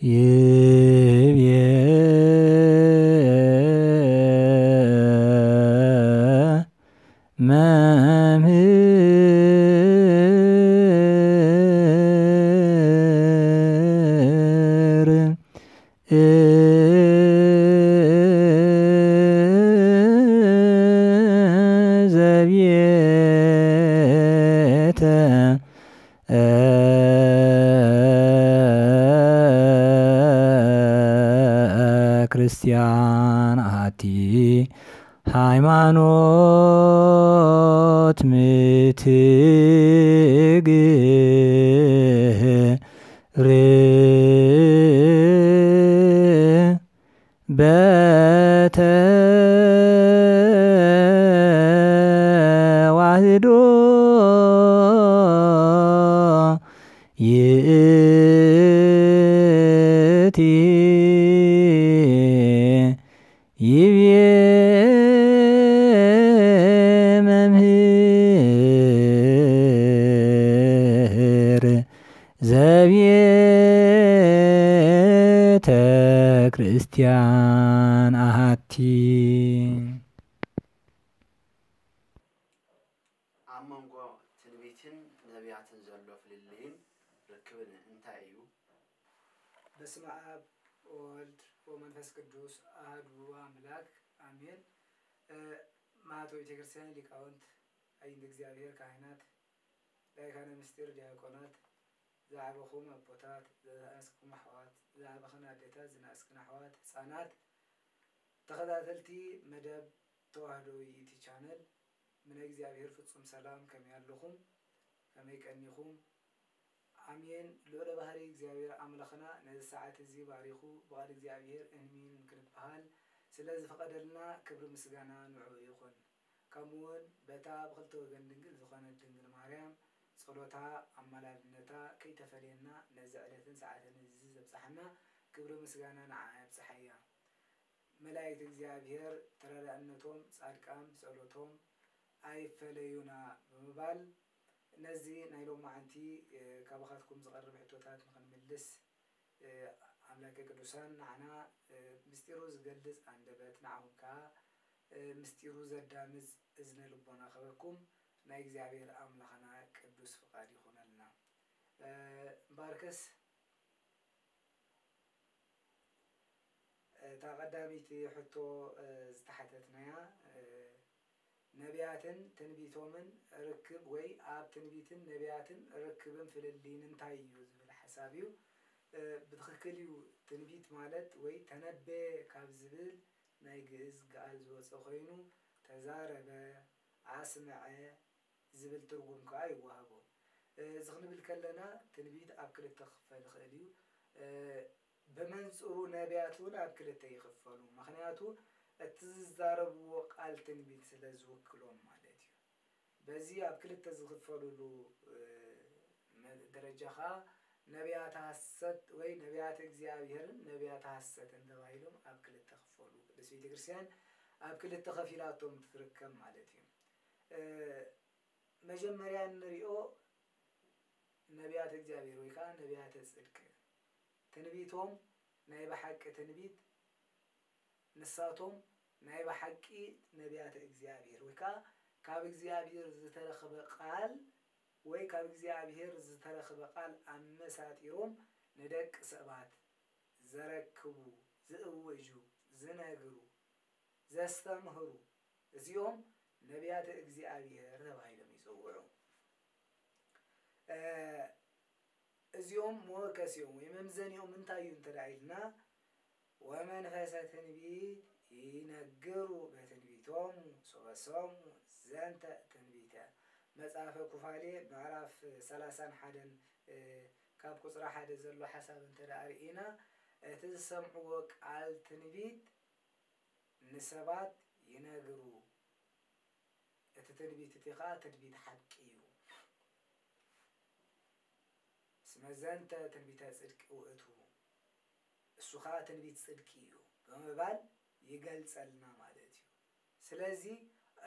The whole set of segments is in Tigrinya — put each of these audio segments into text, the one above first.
ይቤ መምህር ዘቤተ ክርስቲያን ኣቲ ሃይማኖት ምትግብር በተዋህዶ ይእቲ ይቤ መምህር ዘቤተ ክርስቲያን ኣሃቲ። ኣብ መንጎ ትንቢትን ነቢያትን ዘሎ ፍልልይን ርክብን እንታይ እዩ? በስመ ኣብ ወወልድ ወመንፈስ ቅዱስ ኣሐዱ ኣምላክ ኣሜን። እ፣ ማህተው ቤተክርስቲያን ሊቃውንት፣ ኣይንት እግዚኣብሔር ካህናት፣ ላይካነ ምስጢር ዲያቆናት፣ ዝዓበኹም ኣቦታት፣ ዝነኣስኩም ኣሕዋት፣ ዝዓበኽን ኣዴታት፣ ዝነኣስክን ኣሕዋት፣ ህፃናት፣ ተኸታተልቲ መደብ ተዋህዶ ዩቲ ቻነል፣ ምነ እግዚኣብሔር ፍጹም ሰላም ከመይ ኣለኹም? ከመይ ቀኒኹም? ኣሜን። ልዑለ ባህሪ እግዚኣብሔር ኣምላኽና ነዚ ሰዓት እዚ ባሪኹ ብቓል እግዚኣብሔር እንሚን ክንበሃል ስለ ዝፈቐደልና ክብሪ ምስጋና ንዕኡ ይኹን። ከምኡ እውን በታ ብኽልተ ወገን ድንግል ዝኾነት ድንግል ማርያም ጸሎታ ኣማላድነታ ከይተፈለየና ነዚ ዕለትን ሰዓትን እዚ ዘብጽሓና ክብሪ ምስጋና ንዓኣ የብጽሓያ። መላእክት እግዚኣብሔር ተረዳእነቶም፣ ጻድቃን ብጸሎቶም ኣይፈለዩና ብምባል ነዚ ናይ ሎማዓንቲ፣ እ፣ ካባኻትኩም ዝቐርብ ሕቶታት ንኽንምልስ፣ እ፣ ኣምላከ ቅዱሳን ንዓና፣ እ፣ ምስጢሩ ዝገልጽ ኣንደበት፣ ንዓኹም ከኣ፣ እ፣ ምስጢሩ ዘዳምጽ እዝነ ልቦና ክህበኩም ናይ እግዚኣብሔር ኣምላኽና ቅዱስ ፍቓድ ይኹነልና። እ፣ እምበኣርከስ እታ ቀዳመይቲ ሕቶ፣ እ፣ ዝተሓተትናያ፣ እ፣ ነቢያትን ትንቢቶምን ርክብ ወይ ኣብ ትንቢትን ነቢያትን ርክብን ፍልልይን እንታይ እዩ ዝብል ሓሳብ እዩ። እ፣ ብትኽክል እዩ፣ ትንቢት ማለት ወይ ተነበየ ካብ ዝብል ናይ ግእዝ ገኣል ዝወፀ ኮይኑ ተዛረበ፣ ኣስመዐ፣ ዝብል ትርጉም ከኣ ይወሃቦ። እዚ ክንብል ከለና ትንቢት ኣብ ክልተ ክኽፈል ይኽእል እዩ። እ፣ ብመንጽሩ ነቢያት እውን ኣብ ክልተ ይኽፈሉ። ምኽንያቱ እቲ ዝዛረብዎ ቃል ትንቢት ስለ ዝውክሎም ማለት እዩ። በዚ ኣብ ክልተ ዝኽፈልሉ፣ እ፣ መ-፣ ደረጃ ከኣ ነቢያተ ሐሰት ወይ ነቢያተ እግዚኣብሔርን ነቢያተ ሐሰትን ተባሂሎም ኣብ ክልተ ክፈሉ። ቅድስት ቤተክርስትያን ኣብ ክልተ ከፊላቶም ትርከብ ማለት እዩ። እ፣ መጀመርያ እንሪኦ ነቢያተ እግዚኣብሔር ወይ ከዓ ነቢያተ ጽድቅ፣ ትንቢቶም ናይ ብሓቂ ትንቢት፣ ንሳቶም ናይ ብሓቂ ነቢያተ እግዚኣብሔር ወይ ከዓ ካብ እግዚኣብሔር ዝተረኽበ ቃል ወይ ካብ እግዚኣብሔር ዝተረኽበ ቃል ኣመሳጢሮም ንደቂ ሰባት ዘረክቡ፣ ዝእውጁ፣ ዝነግሩ፣ ዘስተምህሩ፣ እዚኦም ነቢያተ እግዚኣብሔር ተባሂሎም ይጽውዑ። እ፣ እዚኦም መወከሲኦም ወይ መምዘኒኦም እንታይ እዩ እንተ ደኣ ኢልና፣ "ወመንፈሰ ትንቢት ይነግሩ በትንቢቶሙ ሶበ ሰሙ ዘንተ ትንቢተ።" መጽሓፈ ኩፋሌ ምዕራፍ ሰላሳን ሓደን፣ እ፣ ካብ ቁጽሪ ሓደ ዘሎ ሓሳብ እንተ ደኣ ርኢና፣ እቲ ዝሰምዕዎ ቃል ትንቢት ንሰባት ይነግሩ። እቲ ትንቢት እቲ ኸኣ ትንቢት ሓቂ እዩ። "እስመ ዘንተ ትንቢተ ጽድቅ ውእቱ፣ እሱ ኸኣ ትንቢት ጽድቂ እዩ" ብምባል ይገልጸልና ማለት እዩ። ስለዚ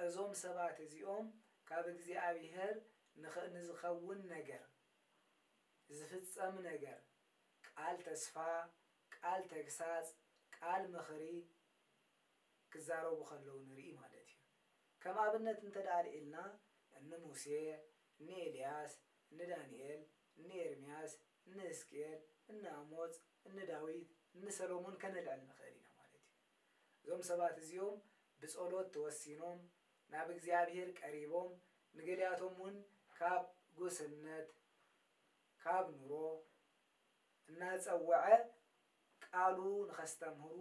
እዞም ሰባት እዚኦም ካብ እግዚኣብሔር ንኸ-፣ ንዝኸውን ነገር፣ ዝፍጸም ነገር፣ ቃል ተስፋ፣ ቃል ተግሳጽ፣ ቃል ምኽሪ ክዛረቡ ከለዉ ንርኢ ማለት እዩ። ከም ኣብነት እንተ ደኣ ኣልዒልና፣ እኒ ሙሴ፣ እኒ ኤልያስ፣ እኒ ዳንኤል፣ እኒ ኤርምያስ፣ እኒ ሕዝቅኤል፣ እኒ ኣሞጽ፣ እኒ ዳዊት፣ እኒ ሰሎሞን ከነልዕል ንኽእል ኢና ማለት እዩ። እዞም ሰባት እዚኦም ብጸሎት ተወሲኖም፣ ናብ እግዚኣብሔር ቀሪቦም፣ ንገሊኣቶም እውን ካብ ጉስነት፣ ካብ ኑሮ እናጸወዐ ቃሉ ንኸስተምህሩ፣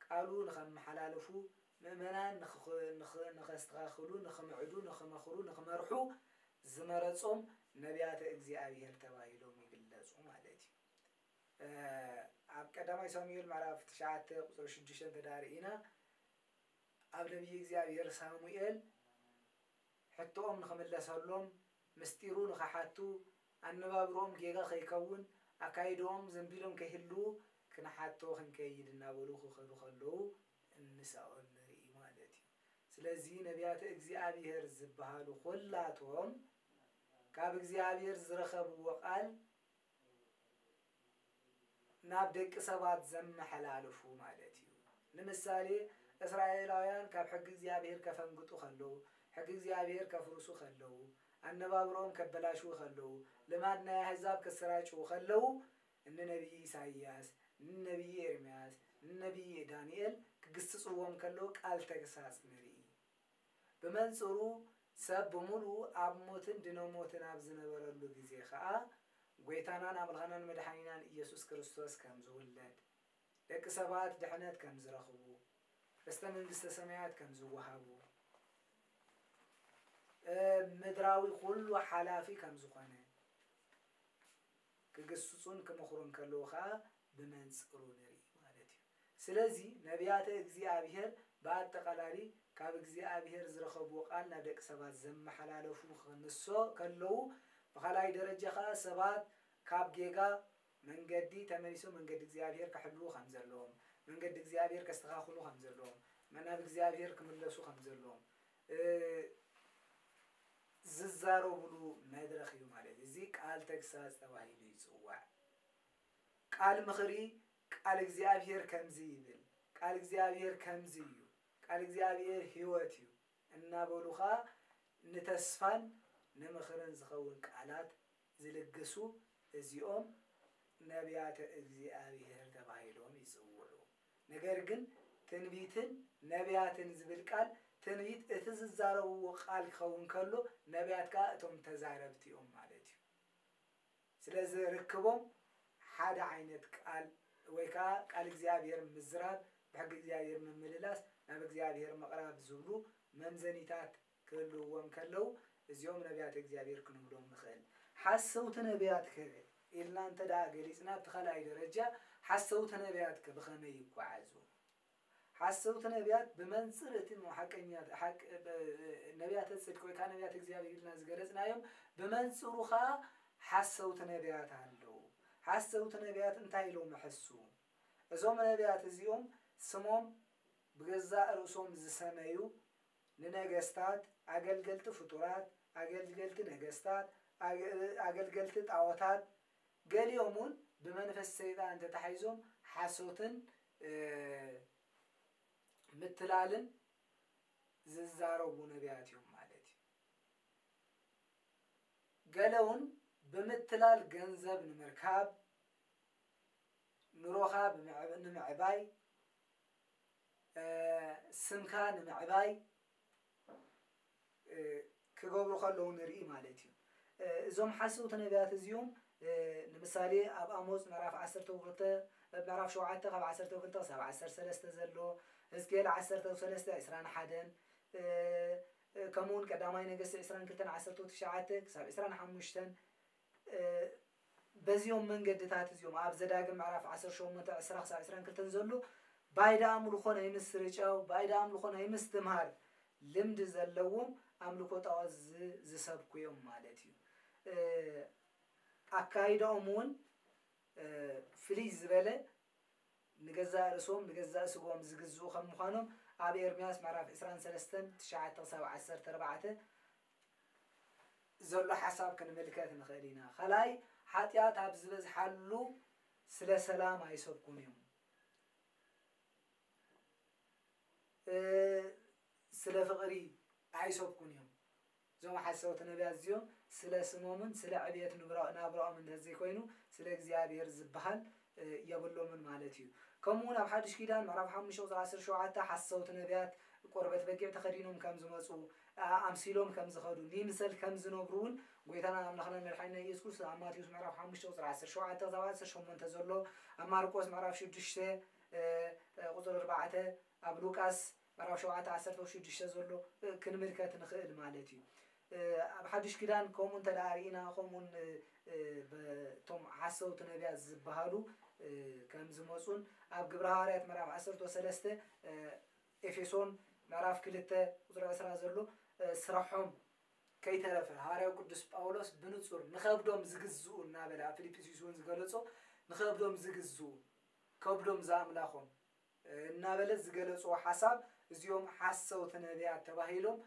ቃሉ ንኸመሓላልፉ፣ ምእመናን ንኽኽ-፣ ንኽ-፣ ንኸስተኻኽሉ፣ ንኽምዕዱ፣ ንኽመኽሩ፣ ንኽመርሑ ዝመረጾም ነቢያተ እግዚኣብሔር ተባሂሎም ይግለጹ ማለት እዩ። እ፣ ኣብ ቀዳማይ ሳሙኤል ምዕራፍ ትሽዓተ ቁጽሪ ሽዱሽተ እንተ ደኣ ርኢና፣ ኣብ ነቢይ እግዚኣብሔር ሳሙኤል ሕቶኦም ንኽምለሰሎም፣ ምስጢሩ ንኽሓቱ፣ ኣነባብርኦም ጌጋ ከይከውን፣ ኣካይድኦም ዘንቢሎም ከይህልዉ ክንሓቶ ክንከይድ እናበሉ ክኸዱ ከለዉ እንስኦም ንርኢ ማለት እዩ። ስለዚ ነቢያተ እግዚኣብሔር ዝበሃሉ ኹላቶም ካብ እግዚኣብሔር ዝረኸብዎ ቃል ናብ ደቂ ሰባት ዘመሓላልፉ ማለት እዩ። ንምሳሌ፣ እስራኤላውያን ካብ ሕጊ እግዚኣብሔር ከፈንግጡ ከለዉ፣ ሕጊ እግዚኣብሔር ከፍርሱ ከለዉ፣ ኣነባብርኦም ከበላሽዉ ከለዉ፣ ልማድ ናይ ኣህዛብ ከሰራጭዉ ከለዉ፣ እኒ ነቢይ ኢሳይያስ፣ እኒ ነቢይ ኤርምያስ፣ እኒ ነቢይ ዳንኤል ክግስጽዎም ከለዉ ቃል ተግሳጽ ንርኢ። ብመንጽሩ ሰብ ብምሉኡ ኣብ ሞትን ድነ ሞትን ኣብ ዝነበረሉ ግዜ ኸኣ፣ ጐይታናን ኣምላኽናን መድሓኒናን ኢየሱስ ክርስቶስ ከም ዝውለድ፣ ደቂ ሰባት ድሕነት ከም ዝረኽቡ፣ ርስተ መንግስተ ሰማያት ከም ዝወሃቡ፣ እ፣ ምድራዊ ኩሉ ሓላፊ ከም ዝኾነ ክግስጹን ክመኽሩን ከለዉ ኸኣ ብመንጽሩ ንርኢ ማለት እዩ። ስለዚ ነቢያተ እግዚኣብሔር ብኣጠቓላሊ ካብ እግዚኣብሔር ዝረኸብዎ ቃል ናብ ደቂ ሰባት ዘመሓላለፉ ክንሶ ከለዉ፣ ብኻልኣይ ደረጃ ኸኣ ሰባት ካብ ጌጋ መንገዲ ተመሊሶም መንገዲ እግዚኣብሔር ክሕልዉ ከም ዘለዎም፣ መንገዲ እግዚኣብሔር ከስተኻኽሉ ከም ዘለዎም፣ ናብ እግዚኣብሔር ክምለሱ ከም ዘለዎም፣ እ፣ ዝዛረቡሉ መድረኽ እዩ ማለት እዩ። እዚ ቃል ተግሳጽ ተባሂሉ ይጽዋዕ። ቃል ምኽሪ፣ ቃል እግዚኣብሔር ከምዚ ይብል፣ ቃል እግዚኣብሔር ከምዚ እዩ፣ ቃል እግዚኣብሔር ህይወት እዩ እናበሉ ኸኣ ንተስፋን ንምኽርን ዝኸውን ቃላት ዝልግሱ እዚኦም ነቢያተ እግዚኣብሔር ተባሂሎም ይጽውዑ። ነገር ግን ትንቢትን ነቢያትን ዝብል ቃል፣ ትንቢት እቲ ዝዛረብዎ ቃል ክኸውን ከሎ፣ ነቢያት ከኣ እቶም ተዛረብቲ እዮም ማለት እዩ። ስለዚ ርክቦም ሓደ ዓይነት ቃል ወይ ከኣ ቃል እግዚኣብሔር ምዝራብ፣ ብሕጊ እግዚኣብሔር ምምልላስ፣ ናብ እግዚኣብሔር ምቕራብ ዝብሉ መምዘኒታት ክህልውዎም ከለዉ፣ እዚኦም ነቢያት እግዚኣብሔር ክንብሎም ንኽእል። ሓሰውቲ ነቢያት ከ ኢልና እንተ ደኣ ገሊጽና፣ ኣብቲ ካልኣይ ደረጃ ሓሰውቲ ነቢያት ከ ብኸመይ ይጓዓዙ? ሓሰውቲ ነቢያት ብመንጽር እቲ ሞ-፣ ሓቀኛ፣ ሓቅ-፣ ብ-፣ ነቢያተ ጽድቂ ወይ ከኣ ነቢያት እግዚኣብሔር ኢልና ዝገለጽናዮም፣ ብመንጽሩ ከኣ ሓሰውቲ ነቢያት ኣለዉ። ሓሰውቲ ነቢያት እንታይ ኢሎም ይሕስዉ? እዞም ነቢያት እዚኦም ስሞም ብገዛእ ርእሶም ዝሰመዩ፣ ንነገስታት፣ ኣገልገልቲ ፍጡራት፣ ኣገልገልቲ ነገስታት፣ ኣገ-፣ ኣገልገልቲ ጣዖታት፣ ገሊኦም እውን ብመንፈስ ሰይጣን ተታሒዞም ሓሶትን፣ እ፣ ምትላልን ዝዛረቡ ነቢያት እዮም ማለት እዩ። ገለ እውን ብምትላል ገንዘብ ንምርካብ፣ ኑሮኻ ብምዕብ-፣ ንምዕባይ፣ እ፣ ስምካ ንምዕባይ፣ እ፣ ክገብሩ ከለዉ ንርኢ ማለት እዩ። እ፣ እዞም ሓሰውቲ ነቢያት እዚኦም፣ እ፣ ንምሳሌ ኣብ ኣሞጽ ምዕራፍ ዓሰርተ ክልተ፣ ምዕራፍ ሸውዓተ ካብ ዓሰርተ ክልተ ክሳብ ዓሰርተ ሰለስተ ዘሎ፣ ሕዝቅኤል ዓሰርተ ሰለስተ ዕስራን ሓደን፣ እ፣ እ፣ ከምኡ እውን ቀዳማይ ነገስቲ ዕስራን ክልተን ዓሰርተ ትሽዓተ ክሳብ ዕስራን ሓሙሽተን፣ እ፣ በዚኦም መንገድታት እዚኦም ኣብ ዘዳግም ምዕራፍ ዓሰርተ ሸሞንተ ዕስራ ክሳብ ዕስራን ክልተን ዘሎ ባይዳ ኣምልኾ ናይ ምስርጫው፣ ባይዳ ኣምልኾ ናይ ምስትምሃር ልምዲ ዘለዎም ኣምልኮ ጣዖት ዝ-፣ ዝሰብኩ እዮም ማለት እዩ። እ፣ ኣካይዳኦም እውን፣ እ፣ ፍልይ ዝበለ ንገዛእ ርእሶም፣ ንገዛእ ስግኦም ዝግዝኡ ከም ምዃኖም ኣብ ኤርምያስ ምዕራፍ ዕስራን ሰለስተን ትሽዓተ ክሳብ ዓሰርተ ኣርባዕተ ዘሎ ሓሳብ ክንምልከት ንኽእል ኢና። ካልኣይ፣ ሓጢኣት ኣብ ዝበዝሓሉ ስለ ሰላም ኣይሰብኩን እዮም። እ፣ ስለ ፍቕሪ ኣይሰብኩን እዮም። እዞም ሓሰውቲ ነቢያት እዚኦም ስለ ስሞምን ስለ ዕብየት ንብራ-፣ ናብራኦም እንተዘይኮይኑ ስለ እግዚኣብሔር ዝበሃል፣ እ፣ የብሎምን ማለት እዩ። ከምኡ እውን ኣብ ሓድሽ ኪዳን ምዕራፍ ሓሙሽተ ቁፅሪ ዓሰርተ ሸውዓተ ሓሰውቲ ነቢያት ቆርበት በጊዕ ተኸዲኖም ከም ዝመፁ፣ ኣ-፣ ኣምሲሎም ከም ዝኸዱ፣ ንይምሰል ከም ዝነብሩ እውን ጎይታና ኣምላኽና መድሓኒና ኢየሱስ ክርስቶስ ኣብ ማቴዎስ ምዕራፍ ሓሙሽተ ቁፅሪ ዓሰርተ ሸውዓተ ክሳብ ዓሰርተ ሸሞንተ ዘሎ፣ ኣብ ማርቆስ ምዕራፍ ሽዱሽተ፣ እ፣ ቁፅሪ ኣርባዕተ፣ ኣብ ሉቃስ ምዕራፍ ሸውዓተ ዓሰርተ ሽዱሽተ ዘሎ፣ እ፣ ክንምልከት ንኽእል ማለት እዩ። እ፣ ኣብ ሓድሽ ኪዳን ከምኡ እንተ ደኣ ርኢና፣ ከምኡን፣ እ፣ እ፣ በቶም ሓሰውቲ ነቢያት ዝበሃሉ፣ እ፣ ከም ዝመፁን ኣብ ግብረ ሃዋርያት ምዕራፍ ዓሰርተ ሰለስተ፣ እ፣ ኤፌሶን ምዕራፍ ክልተ ቁፅሪ ዕስራ ዘሎ፣ እ፣ ስራሖም ከይተረፈ ሃዋርያው ቅዱስ ጳውሎስ ብንጹር ንኸብዶም ዝግዝኡ እናበለ ኣብ ፊልጵስዩስ እውን ዝገለጾ ንኸብዶም ዝግዝኡ ከብዶም ዝኣምላኾም እናበለ ዝገለጽዎ ሓሳብ እዚኦም ሓሰውቲ ነቢያት ተባሂሎም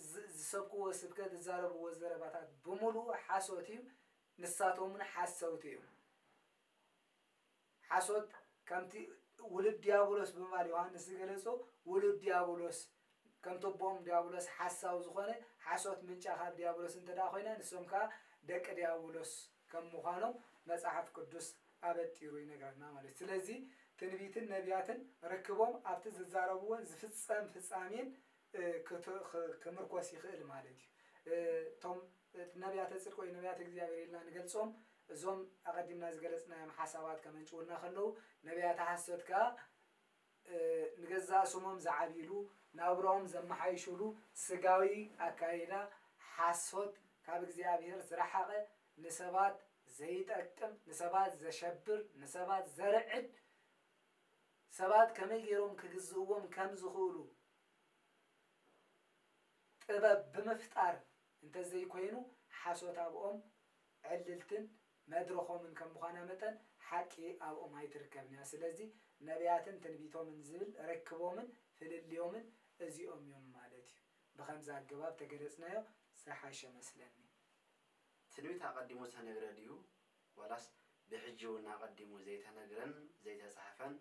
ዝ-፣ ዝሰብክዎ ስብከት ዝዛረብዎ ዘረባታት ብምሉኡ ሓሶት እዩ። ንሳቶም እውን ሓሰውቲ እዮም። ሓሶት ከምቲ ውሉድ ዲያብሎስ ብምባል ዮሃንስ ዝገለጾ ውሉድ ዲያብሎስ ከምቲ ኣቦኦም ዲያብሎስ ሓሳዊ ዝኾነ ሓሶት ምንጫ ካብ ዲያብሎስ እንተ ደኣ ኮይና ንሶም ከኣ ደቂ ዲያብሎስ ከም ምዃኖም መጽሓፍ ቅዱስ ኣበጢሩ ይነግረና ማለት እዩ። ስለዚ ትንቢትን ነቢያትን ርክቦም ኣብቲ ዝዛረብዎን ዝፍጸም ፍጻሜን፣ እ፣ ክት-፣ ክ-፣ ክምርኮስ ይኽእል ማለት እዩ። እ፣ እቶም ነቢያተ ጽድቂ ወይ ነቢያተ እግዚኣብሔር ኢልና ንገልጾም እዞም ኣቐዲምና ዝገለጽናዮም ሓሳባት ከመንጭውና ከለዉ ነቢያተ ሓሶት ከኣ እ፣ ንገዛእ ስሞም ዝዓብይሉ፣ ናብራኦም ዘመሓይሹሉ ስጋዊ ኣካይዳ ሓሶት፣ ካብ እግዚኣብሔር ዝረሓቐ፣ ንሰባት ዘይጠቅም፣ ንሰባት ዘሸብር፣ ንሰባት ዘርዕድ፣ ሰባት ከመይ ገይሮም ክግዝእዎም ከም ዝኽእሉ ጥበብ ብምፍጣር እንተዘይኮይኑ፣ ሓሶት ኣብኦም ዕልልትን መድረኾምን ከም ምዃና መጠን፣ ሓቂ ኣብኦም ኣይትርከብን እያ። ስለዚ ነቢያትን ትንቢቶምን ዝብል ርክቦምን ፍልልዮምን እዚኦም እዮም ማለት እዩ። ብኸምዚ ኣገባብ ተገለጽናዮ ዝሓሸ መስለኒ። ትንቢት ኣቐዲሙ ዝተነግረ ድዩ? ዋላስ ብሕጂ እውን ኣቐዲሙ ዘይተነግረን ዘይተጻሕፈን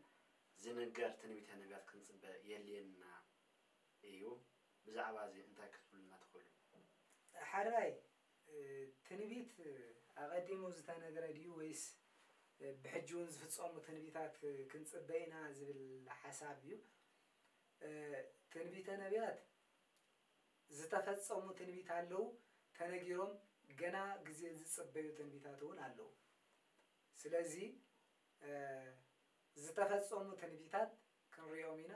ዝንገር ትንቢተ ነቢያት ክንጽበ የድልየና እዩ? ብዛዕባ እዚ እንታይ ክትብሉና ትኽእሉ? ሓራይ፣ እ፣ ትንቢት ኣቐዲሙ ዝተነግረ ድዩ ወይስ፣ እ፣ ብሕጂ እውን ዝፍጸሙ ትንቢታት ክንጽበ ኢና ዝብል ሓሳብ እዩ። እ፣ ትንቢተ ነቢያት ዝተፈጸሙ ትንቢት ኣለዉ፣ ተነጊሮም ገና ግዜ ዝጽበዩ ትንቢታት እውን ኣለዉ። ስለዚ፣ እ፣ ዝተፈጸሙ ትንቢታት ክንሪኦም ኢና።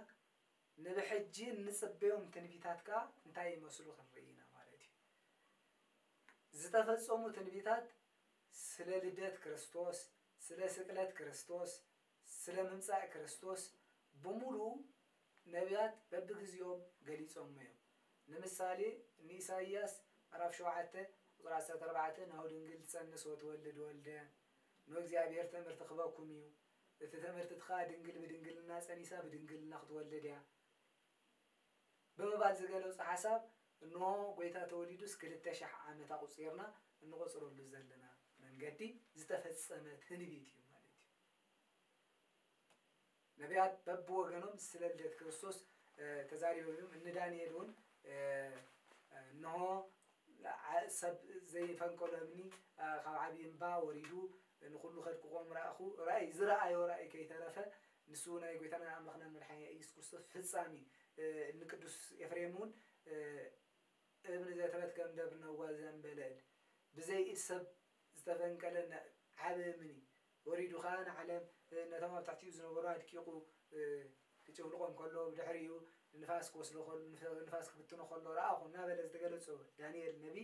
ንብሕጂ እንጽበዮም ትንቢታት ከኣ እንታይ ይመስሉ ክንርኢ ኢና ማለት እዩ። ዝተፈጸሙ ትንቢታት ስለ ልደት ክርስቶስ፣ ስለ ስቅለት ክርስቶስ፣ ስለ ምምጻእ ክርስቶስ ብምሉኡ ነቢያት በብግዜኦም ገሊጾሞ እዮም። ንምሳሌ፣ ንኢሳይያስ ምዕራፍ ሸውዓተ ቁጽሪ ዓሰርተ ኣርባዕተ፣ "ናሁ ድንግል ትጸንስ ወትወልድ ወልደ፣ ንእግዚኣብሔር ትእምር ትኽበኩም እዩ። እቲ ትእምርቲ እቲ ኸኣ ድንግል ብድንግልና ጸኒሳ ብድንግልና ክትወልድ እያ" ብምባል ዝገለጾ ሓሳብ፣ እንሆ ጐይታ ተወሊዱስ ክልተ ሺሕ ዓመት ኣቑጺርና እንቖጽረሉ ዘለና መንገዲ ዝተፈጸመ ትንቢት እዩ ማለት እዩ። ነቢያት በብወገኖም ስለ ልደት ክርስቶስ፣ እ፣ ተዛሪቦም እዮም። እኒ ዳንኤል እውን፣ እ፣ እ፣ እንሆ ዓ-፣ ሰብ ዘይፈንቀሎ እምኒ፣ እ፣ ካብ ዓብዪ እምባ ወሪዱ ንኹሉ ከድቅቖም ረኣኹ። ራእይ፣ ዝረኣዮ ራእይ ከይተረፈ ንሱ ናይ ጐይታና ኣምላኽና መድሓኒና ኢየሱስ ክርስቶስ ፍጻሜ፣ እ፣ ንቅዱስ ኤፍሬም እውን፣ እ፣ እብን ዘተበትከ እምደብር ነዋ ዘእንበለ እድ፣ ብዘይ ኢድ ሰብ ዝተፈንቀለ ነ-፣ ዓቢ እምኒ ወሪዱ ኸኣ ንዓለም፣ እ፣ ነቶም ኣብ ትሕቲኡ ዝነበሩ ኣድቂቑ፣ እ፣ ክጭፍልቖም ከሎ፣ ብድሕሪኡ ንፋስ ክወስዶ ከሎ፣ ንፈ-፣ ንፋስ ክብትኖ ከሎ ረኣኹ እናበለ ዝተገለጾ ዳንኤል ነቢ፣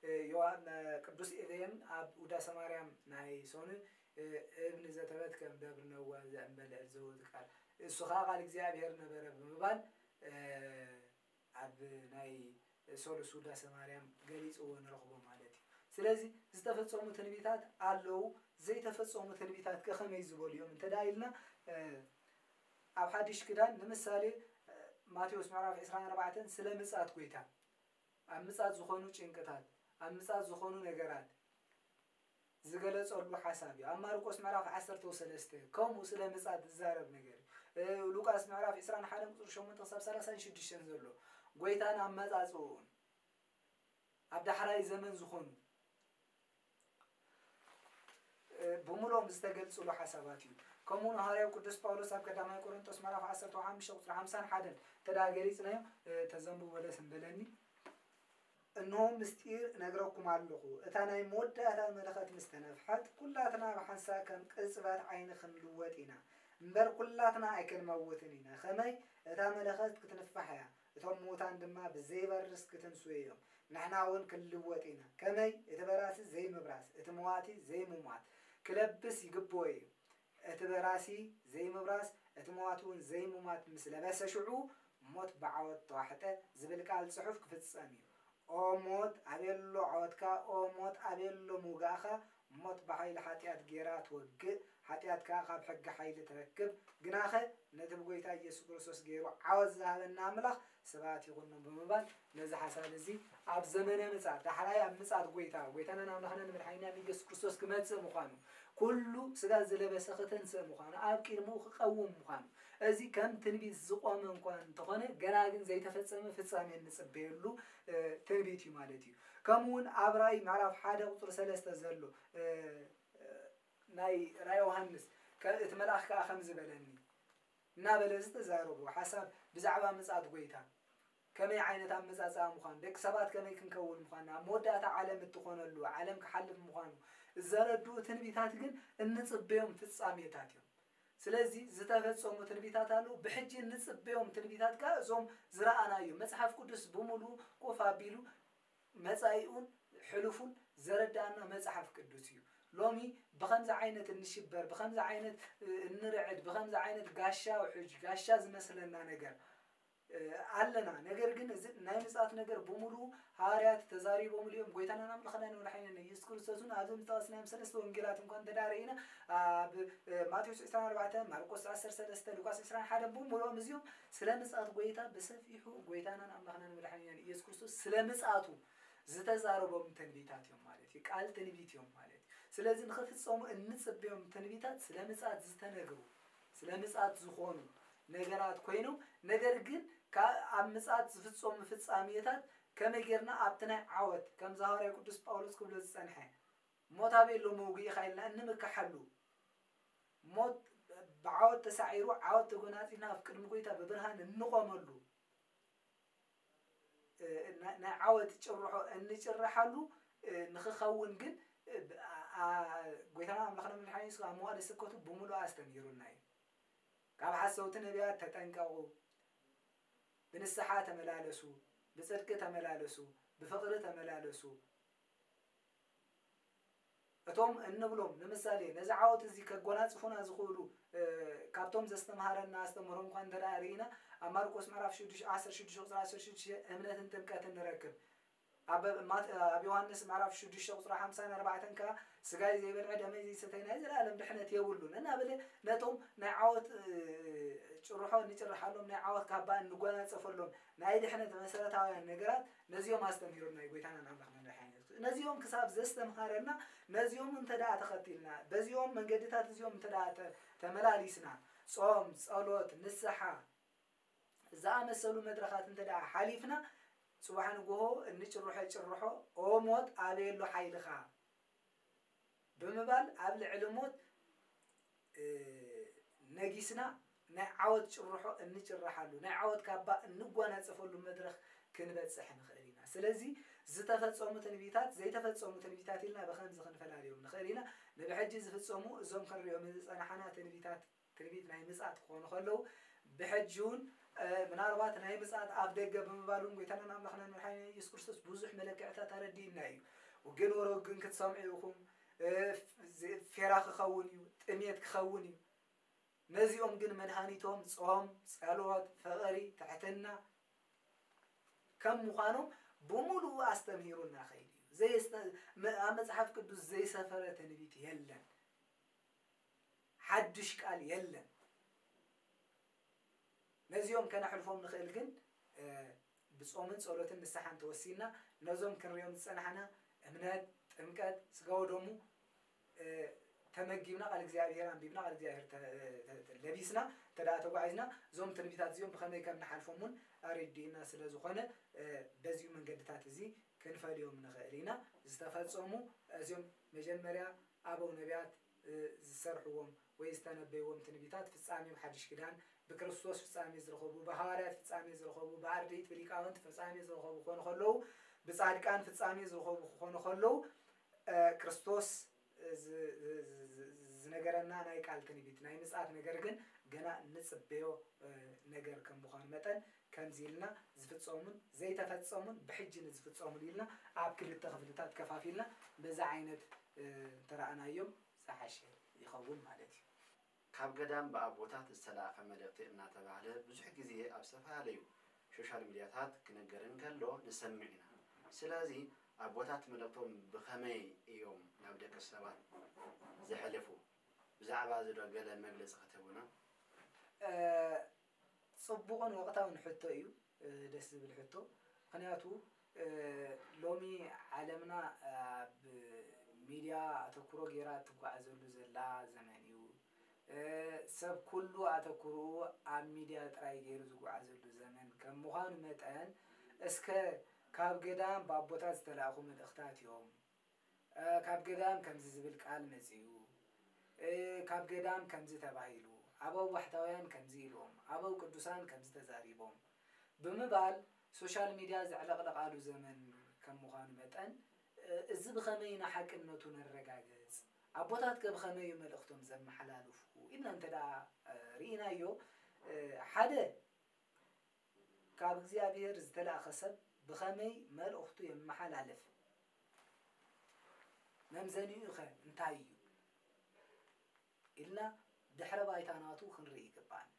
እ፣ ዮሃ-፣ እ፣ ቅዱስ ኤፍሬም ኣብ ውዳሴ ማርያም ናይ ሶኑ፣ እ፣ እብን ዘተበትከ እምደብር ነዋ ዘእንበለ እድ ዝብል ቃል፣ እሱ ኸኣ ቃል እግዚኣብሔር ነበረ ብምባል፣ እ፣ ኣብ ናይ ሶሉስ ውዳሴ ማርያም ገሊጽዎ ንረኽቦ ማለት እዩ። ስለዚ ዝተፈጸሙ ትንቢታት ኣለዉ፣ ዘይተፈጸሙ ትንቢታት ከ ከመይ ዝበሉ እዮም እንተ ደኣ ኢልና፣ እ፣ ኣብ ሓድሽ ኪዳን ንምሳሌ፣ እ፣ ማቴዎስ ምዕራፍ ዕስራን ኣርባዕተን ስለ ምጻት ጐይታ፣ ኣብ ምጻት ዝኾኑ ጭንቅታት፣ ኣብ ምጻት ዝኾኑ ነገራት፣ ዝገለጸሉ ሓሳብ እዩ። ኣብ ማርቆስ ምዕራፍ ዓሰርተ ሰለስተ ከምኡ ስለ ምጽኣት ዝዛረብ ነገር እዩ። ሉቃስ ምዕራፍ ዕስራን ሓደን ቁጽሪ ሸሞንተ ክሳብ ሰላሳን ሽዱሽተን ዘሎ ጎይታን ኣመጻጽኡን ኣብ ዳሕራይ ዘመን ዝኾኑ ብምሎም ዝተገልጽሉ ሓሳባት እዩ። ከምኡ ንሃዋርያው ቅዱስ ጳውሎስ ኣብ ቀዳማይ ቆሮንጦስ ምዕራፍ ዓሰርተ ሓሙሽተ ቁጽሪ ሓምሳን ሓደን ተዳ ገሊጽናዮ ተዘንብቦ ደስ እንበለኒ። እንሆ ምስጢር እነግረኩም ኣለኹ፣ እታ ናይ መወዳእታ መለኸት ምስ ተነፍሐት፣ ኩላትና ብሓንሳእ ከም ቅጽበት ዓይኒ ክንልወጥ ኢና። እምበር ኩላትና ኣይክንመውትን ኢና። ኸመይ? እታ መለኸት ክትንፋሕ እያ። እቶም ምዉታን ድማ ብዘይበርስ ክትንስኡ እዮም። ንሕና እውን ክንልወጥ ኢና። ከመይ? እቲ በራሲ ዘይምብራስ፣ እቲ መዋቲ ዘይምሟት ክለብስ ይግብኦ እዩ። እቲ በራሲ ዘይምብራስ፣ እቲ መዋቲ እውን ዘይምሟት ምስ ለበሰ ሽዑ ሞት ብዓወት ተዋሕጠ ዝብል ቃል ጽሑፍ ክፍጸም እዩ። ኦ ሞት ኣበሎ ዓወትካ፣ ኦ ሞት ኣበሎ ምውጋእኻ፣ ሞት ብሓይሊ ሓጢኣት ጌራ ትወግእ፣ ሓጢኣት ከኣ ካብ ሕጊ ሓይሊ ትረክብ። ግናኸ ነቲ ብጎይታ ኢየሱስ ክርስቶስ ገይሩ ዓወት ዝሃበና ኣምላኽ ስብሐት ይኹኖ ብምባል ነዚ ሓሳብ እዚ ኣብ ዘመነ ምጽኣት ዳሕራይ ኣብ ምጽኣት ጎይታ ጎይታናን ኣምላኽናን መድሓኒናን ኢየሱስ ክርስቶስ ክመጽእ ምዃኑ ኩሉ ስጋ ዝለበሰ ክተንስእ ምዃኑ ኣብ ቅድሚኡ ክቐውም ምዃኑ እዚ ከም ትንቢት ዝቖመ እንኳ እንተኾነ ገና ግን ዘይተፈጸመ ፍጻሜ እንጽበየሉ ትንቢት እዩ ማለት እዩ። ከምኡ እውን ኣብ ራእይ ምዕራፍ ሓደ ቁፅሪ ሰለስተ ዘሎ ናይ ራእይ ዮሃንስ እቲ መልኣኽ ከዓ ከምዚ በለኒ እናበለ ዝተዛረቦ ሓሳብ ብዛዕባ ምጽኣት ጎይታ ከመይ ዓይነት ኣመጻጽኣ ምዃኑ ደቂ ሰባት ከመይ ክንከውን ምዃንና ኣብ መወዳእታ ዓለም እትኾነሉ ዓለም ክሓልፍ ምዃኑ ዘረድኡ ትንቢታት ግን እንጽበዮም ፍጻሜታት እዮም። ስለዚ ዝተፈጸሙ ትንቢታት ኣለዉ። ብሕጂ እንጽበዮም ትንቢታት ከኣ እዞም ዝረኣናዮም መጽሓፍ ቅዱስ ብምሉኡ ኮፍ ኣቢሉ መጻኢኡን ሕሉፉን ዘረድኣና መጽሓፍ ቅዱስ እዩ። ሎሚ ብኸምዚ ዓይነት እንሽበር፣ ብኸምዚ ዓይነት እንርዕድ፣ ብኸምዚ ዓይነት ጋሻ ውሕጅ፣ ጋሻ ዝመስለና ነገር ኣለና። ነገር ግን እዚ ናይ ምጽኣት ነገር ብምሉኡ ሃዋርያት ተዛሪቦምሉ እዮም። ጎይታናን ኣምላኽናን መድሓኒናን ኢየሱስ ክርስቶስ እውን ኣብዚ ምጠቐስናዮም ሰለስተ ወንጌላት እንኳ እንተ ደኣ ርኢና ኣብ ማቴዎስ ዕስራን ኣርባዕተን፣ ማርቆስ ዓሰርተ ሰለስተ፣ ሉቃስ ዕስራን ሓደን ብምሉኦም እዚኦም ስለ ምጽኣት ጎይታ ብሰፊሑ ጎይታናን ኣምላኽናን መድሓኒናን ኢየሱስ ክርስቶስ ስለ ምጽኣቱ ዝተዛረቦም ትንቢታት እዮም ማለት እዩ። ቃል ትንቢት እዮም ማለት እዩ። ስለዚ ንኽፍጸሙ እንጽበዮም ትንቢታት ስለ ምጽኣት ዝተነግሩ ስለ ምጽኣት ዝኾኑ ነገራት ኮይኖም ነገር ግን ካብ ኣብ ምጽኣት ዝፍጸሙ ፍጻሜታት ከመይ ጌርና ኣብቲ ናይ ዓወት ከምዚ ሃዋርያ ቅዱስ ጳውሎስ ክብሎ ዝጸንሐ ሞት ኣበይ ኣሎ መውግኢኻ ኢልና እንምክሓሉ ሞት ብዓወት ተሳዒሩ ዓወት ተጎናጺፍና ኣብ ቅድሚ ጎይታ ብብርሃን እንቆመሉ ናይ ዓወት ጭርሖ እንጭርሓሉ ንኽኸውን ግን ጎይታና ኣምላኽና መድሓኒ የሱስ ኣብ መዋእለ ስብከቱ ብምሉእ ኣስተምሂሩና እዩ። ካብ ሓሰውቲ ነቢያት ተጠንቀቑ፣ ብንስሓ ተመላለሱ፣ ብጽድቂ ተመላለሱ፣ ብፍቕሪ ተመላለሱ። እቶም እንብሎም ንምሳሌ ነዚ ዓወት እዚ ከጎናጽፉና ዝኽእሉ ካብቶም ዘስተምሃረና ኣስተምህሮ እንኳ እንተ ደኣ ርኢና ኣብ ማርቆስ ምዕራፍ ሽዱሽተ ዓሰርተ ሽዱሽተ ቁፅሪ ዓሰርተ ሽዱሽተ እምነትን ጥምቀትን ንረክብ። ኣብ ዮሃንስ ምዕራፍ ሽዱሽተ ቁፅሪ ሓምሳን ኣርባዕተን ከዓ ስጋይ ዘይበልዐ ደመይ ዘይሰተይ ናይ ዘለኣለም ድሕነት የብሉን እናበለ ነቶም ናይ ዓወት ጭርሖ እንጭርሓሎም ናይ ዓወት ካባ እንጎናፀፈሎም ናይ ድሕነት መሰረታውያን ነገራት ነዚኦም ኣስተምህሩና እዩ ጎይታና ኣምላኽና መድሓኒና የሱስ። ነዚኦም ክሳብ ዘስተምሃረና ነዚኦም እንተ ደኣ ተኸቲልና በዚኦም መንገድታት እዚኦም እንተ ደኣ ተመላሊስና ጾም፣ ጸሎት፣ ንስሓ ዝኣመሰሉ መድረኻት እንተ ደኣ ሓሊፍና ጽባሕ ንግሆ እንጭርሖ ጭርሖ ኦ ሞት ኣበይ ኣሎ ሓይልኻ ብምባል ኣብ ልዕሊ ሞት ነጊስና ናይ ዓወት ጭርሖ እንጭርሓሉ ናይ ዓወት ካባ እንጓናፀፈሉ መድረኽ ክንበፅሕ ንኽእል ኢና። ስለዚ ዝተፈፀሙ ትንቢታት ዘይተፈፀሙ ትንቢታት ኢልና ብኸምዚ ክንፈላልዮም ንኽእል ኢና። ንብሕጂ ዝፍፀሙ እዞም ክንሪኦም ዝፀናሓና ትንቢታት ትንቢት ናይ ምፅኣት ክኾኑ ከለዉ ብሕጂ እውን ምናልባት ናይ ምፅኣት ኣፍ ደገ ብምባል እውን ጎይታናን ኣምላኽናን መድሓኒና ኢየሱስ ክርስቶስ ብዙሕ መለክዕታት ኣረዲእና እዩ። ውግን ወረ ውግን ክትሰምዑ ኢኹም፣ ፌራ ክኸውን እዩ፣ ጥሜት ክኸውን እዩ። ነዚኦም ግን መድሃኒቶም ጾም፣ ጸሎት፣ ፍቕሪ፣ ትሕትና ከም ምዃኖም ብምሉኡ ኣስተምሂሩና ኸይዱ እዩ። ኣብ መጽሓፍ ቅዱስ ዘይሰፈረ ትንቢት የለን። ሓድሽ ቃል የለን። ነዚኦም ከነሕልፎም ንኽእል ግን ብጾምን ጸሎትን ንስሓን ተወሲና ነዞም ክንሪኦም ዝጸናሕና እምነት፣ ጥምቀት፣ ስጋ ወደሙ ተመጊብና ቃል እግዚኣብሔር ኣንቢብና ቃል እግዚኣብሔር ለቢስና እንተ ተጓዒዝና እዞም ትንቢታት እዚኦም ብኸመይ ከም ንሓልፎም እውን ኣረዲእና ስለ ዝኾነ በዚኡ መንገድታት እዚ ክንፈልዮም ንኽእል ኢና። ዝተፈጸሙ እዚኦም መጀመርያ ኣበው ነቢያት ዝሰርሕዎም ወይ ዝተነበይዎም ትንቢታት ፍጻሜ ሓድሽ ኪዳን ብክርስቶስ ፍጻሜ ዝረኸቡ፣ ብሃዋርያት ፍጻሜ ዝረኸቡ፣ ብኣርድእት ብሊቃውንት ፍጻሜ ዝረኸቡ ክኾኑ ከለዉ፣ ብጻድቃን ፍጻሜ ዝረኸቡ ክኾኑ ከለዉ፣ ክርስቶስ ዝነገረና ናይ ቃል ትንቢት ናይ ምጽኣት ነገር ግን ገና ንጽበዮ ነገር ከም ምዃኑ መጠን ከምዚ ኢልና ዝፍጸሙን ዘይተፈጸሙን ብሕጂ ንዝፍጸሙን ኢልና ኣብ ክልተ ክፍልታት ከፋፊልና በዛ ዓይነት እንተረኣናዮም ዝሓሸ ይኸውን ማለት እዩ። ካብ ገዳም ብኣቦታት ዝተላእኸ መልእኽቲ እናተባህለ ብዙሕ ግዜ ኣብ ዝተፈላለዩ ሶሻል ሚድያታት ክነገር እንከሎ ንሰምዕ ኢና። ስለዚ ኣቦታት መልእኽቶም ብኸመይ እዮም ናብ ደቂ ሰባት ዘሕልፉ? ብዛዕባ እዚ ዶ ገለ መግለፂ ክትህቡና? ፅቡቕን ወቕታውን ሕቶ እዩ። ደስ ዝብል ሕቶ። ምኽንያቱ ሎሚ ዓለምና ኣብ ሚድያ ኣተኩሮ ገይራ እትጓዓዘሉ ዘላ ዘመን እዩ። ሰብ ኩሉ ኣተኩርኡ ኣብ ሚድያ ጥራይ ገይሩ ዝጓዓዘሉ ዘመን ከም ምዃኑ መጠን እስከ ካብ ገዳም ብኣቦታት ዝተላእኹ መልእኽታት እዮም። ካብ ገዳም ከምዚ ዝብል ቃል መጺኡ፣ ካብ ገዳም ከምዚ ተባሂሉ፣ ኣበው ባሕታውያን ከምዚ ኢሎም፣ ኣበው ቅዱሳን ከምዚ ተዛሪቦም ብምባል ሶሻል ሚድያ ዘዕለቕለቓሉ ዘመን ከም ምዃኑ መጠን እዚ ብኸመይ ኢና ሓቅነቱ ነረጋግጽ? ኣቦታት ከ ብኸመይ እዩ መልእኽቶም ዘመሓላልፉ? ኢልና እንተ ደኣ ርኢናዮ ሓደ ካብ እግዚኣብሔር ዝተላእኸ ሰብ ብኸመይ መልእኽቱ የመሓላልፍ? መምዘኒኡ ኸ እንታይ እዩ? ኢልና ድሕረ ባይታ ናቱ ክንርኢ ይግብኣና።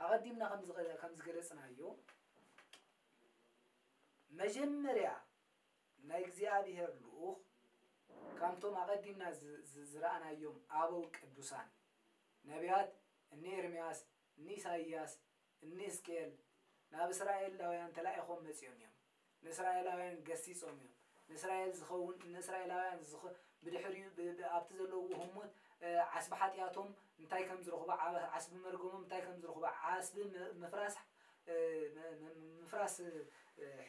ኣቐዲምና ከም ዝገለጽናዮ መጀመርያ ናይ እግዚኣብሔር ልኡኽ ካብቶም ኣቐዲምና ዝረኣናዮም ኣበው ቅዱሳን ነቢያት እኒ ኤርምያስ እኒ ኢሳይያስ እኒ እስቅኤል ናብ እስራኤላውያን ተላኢኾም መጺኦም እዮም። ንእስራኤላውያን ገሲጾም እዮም። ንእስራኤል ዝኸውን ንእስራኤላውያን ብድሕሪኡ ኣብቲ ዘለውዎ ህሞት ዓስቢ ሓጢኣቶም እንታይ ከም ዝረኽቡ ዓስቢ መርገሞም እንታይ ከም ዝረኽቡ ዓስቢ ምፍራስ ምፍራስ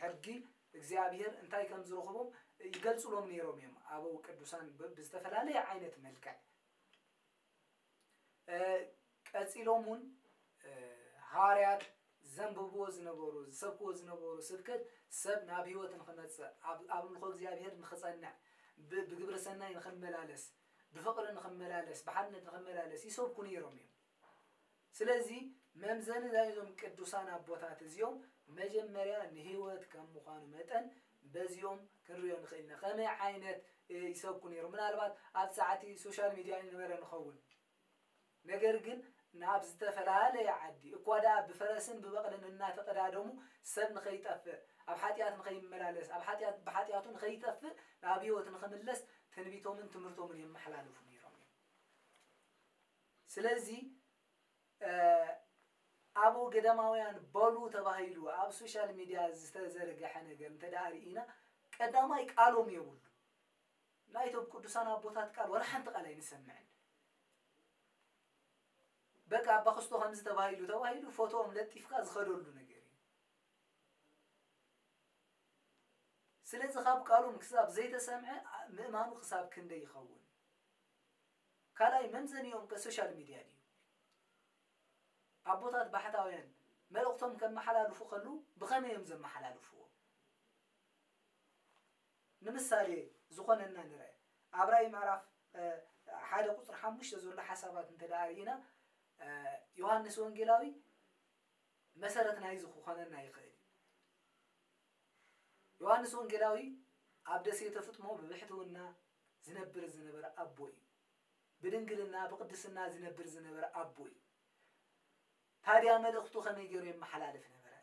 ሕርጊ እግዚኣብሔር እንታይ ከም ዝረኽቦም ይገልጹሎም ነይሮም እዮም። ኣበው ቅዱሳን ብዝተፈላለየ ዓይነት መልክዕ ቀጺሎም እውን ሃዋርያት ዘንብብዎ ዝነበሩ ዝሰብክዎ ዝነበሩ ስብከት ሰብ ናብ ህይወት ንኽመፅእ ኣብ ኣምልኾ እግዚኣብሔር ንኽፀንዕ ብግብረ ሰናይ ንኽመላለስ ብፍቕሪ ንኽመላለስ ብሓድነት ንኽመላለስ ይሰብኩ ነይሮም እዮም። ስለዚ መምዘኒ ናይዞም ቅዱሳን ኣቦታት እዚኦም መጀመርያ ንህይወት ከም ምዃኑ መጠን በዚኦም ክንሪኦ ንኽእል ኢና። ከመይ ዓይነት ይሰብኩ ነይሮም? ምናልባት ኣብ ሰዓቲ ሶሻል ሚድያ ይነበረ ንኸውን። ነገር ግን ናብ ዝተፈላለየ ዓዲ እኳ ደኣ ብፈረስን ብበቕልን እናተቐዳደሙ ሰብ ንኸይጠፍእ ኣብ ሓጢኣት ንኸይመላለስ ኣብ ሓጢኣት ብሓጢኣቱ ንኸይጠፍእ ናብ ህይወት ንኽምለስ ትንቢቶምን ትምህርቶምን የመሓላልፉ ነይሮም እዮም። ስለዚ ኣበው ገዳማውያን በሉ ተባሂሉ ኣብ ሶሻል ሚድያ ዝተዘርገሐ ነገር እንተ ደኣ ርኢና ቀዳማይ ቃሎም የብሉ። ናይቶም ቅዱሳን ኣቦታት ቃል ወላ ሓንቲ ቃል ኣይንሰምዕን። በቃ ኣባ ክስቶ ከምዚ ተባሂሉ ተባሂሉ ፎቶኦም ለጢፍካ ዝኸደሉ ነገር እዩ። ስለዚ ካብ ቃሎም ክሳብ ዘይተሰምዐ ምእማኑ ክሳብ ክንደይ ይኸውን? ካልኣይ መምዘኒኦም ከ ሶሻል ሚድያ ድዩ? ኣቦታት ባሕታውያን መልእኽቶም ከመሓላልፉ ከለዉ ብኸመይ እዮም ዘመሓላልፍዎ? ንምሳሌ ዝኾነና ንርአ። ኣብ ራእይ ምዕራፍ ሓደ ቁፅሪ ሓሙሽተ ዘሎ ሓሳባት እንተ ደኣ ርኢና ዮሃንስ ወንጌላዊ መሰረት ናይዚ ክኾነና ይኽእል እዩ። ዮሃንስ ወንጌላዊ ኣብ ደሴተ ፍጥሞ ብብሕትውና ዝነብር ዝነበረ ኣቦ እዩ። ብድንግልና ብቕድስና ዝነብር ዝነበረ ኣቦ እዩ። ታዲያ መልእኽቱ ከመይ ገይሩ የመሓላልፍ ነበረ?